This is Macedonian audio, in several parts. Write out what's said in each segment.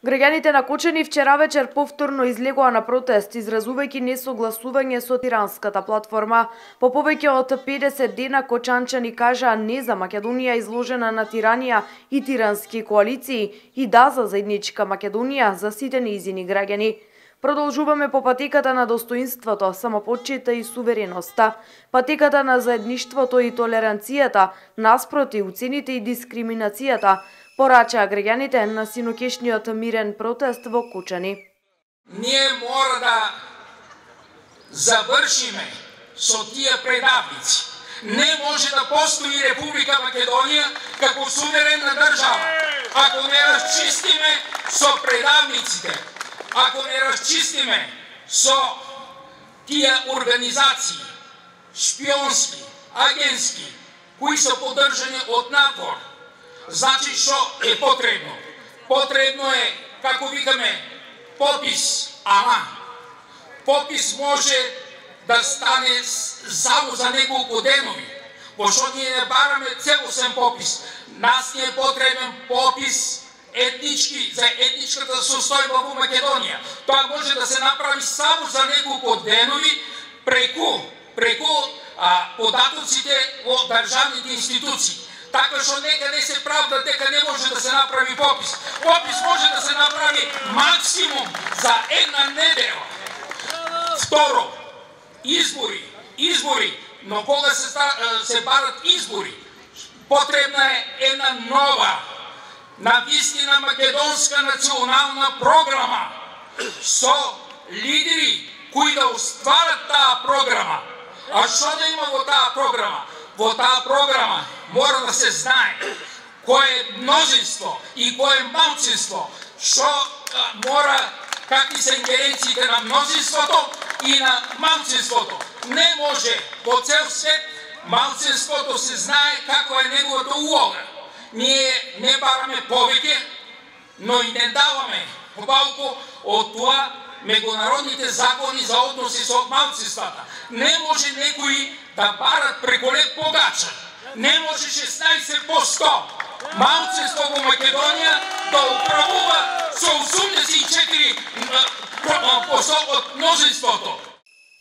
Граѓаните на Кочани вчера вечер повторно излегоа на протест, изразувајќи несогласување со тиранската платформа. По повеќе од 50 дена кочанчани кажаа не за Македонија изложена на тиранија и тирански коалиции и да за заедничка Македонија за сите нејзини граѓани. Продолжуваме по патеката на достоинството, самопочита и сувереноста, патеката на заедништвото и толеранцијата, наспроти уцените и дискриминацијата, порачаа граѓаните на синокешниот мирен протест во Кочани. Ние мора да завршиме со тие предавници. Не може да постои Република Македонија како суверенна држава, ако не расчистиме со предавниците, ако не расчистиме со тие организации, шпионски, агентски, кои се поддржани од надвор. Значи што е потребно? Потребно е, како викаме, попис, ама попис може да стане само за неколку денови, пошто ние не бараме целосен попис. Нас ни е потребен попис етнички, за етничката состојба во Македонија. Тоа може да се направи само за неколку денови преку податоците во државните институции. Така што нека не се правда дека не може да се направи попис. Попис може да се направи максимум за една недела. Второ, избори, но кога се барат избори, потребна е една нова, навистина македонска национална програма со лидери кои да остварат таа програма. А што да има во таа програма? Во таа програма мора да се знае кој е мнозинство и кој е малцинство, што мора, какви се ингеренциите на мнозинството и на малцинството. Не може по цел свет малцинството се знае каква е неговата улога. Ние не бараме повеќе, но и не даваме помалку од тоа меѓународните закони за односи со малцинствата. Не може некои да барат преку леп погача. Не може 16% малцинство во Македонија да управува со 84% од мнозинството.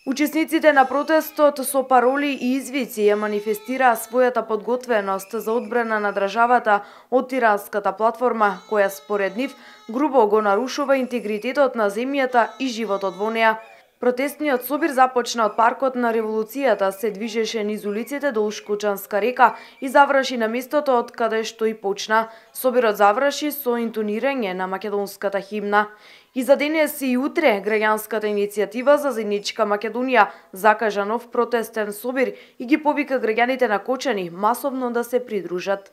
Учесниците на протестот со пароли и извици ја манифестираа својата подготвеност за одбрана на државата од тиранската платформа, која според нив грубо го нарушува интегритетот на земјата и животот во неа. Протестниот собир започна од паркот на Револуцијата, се движеше низ улиците долж Кочанска река и заврши на местото од каде што и почна. Собирот заврши со интонирање на македонската химна. И за денес и утре граѓанската иницијатива за заедничка Македонија закажа нов протестен собир и ги повика граѓаните на Кочани масовно да се придружат.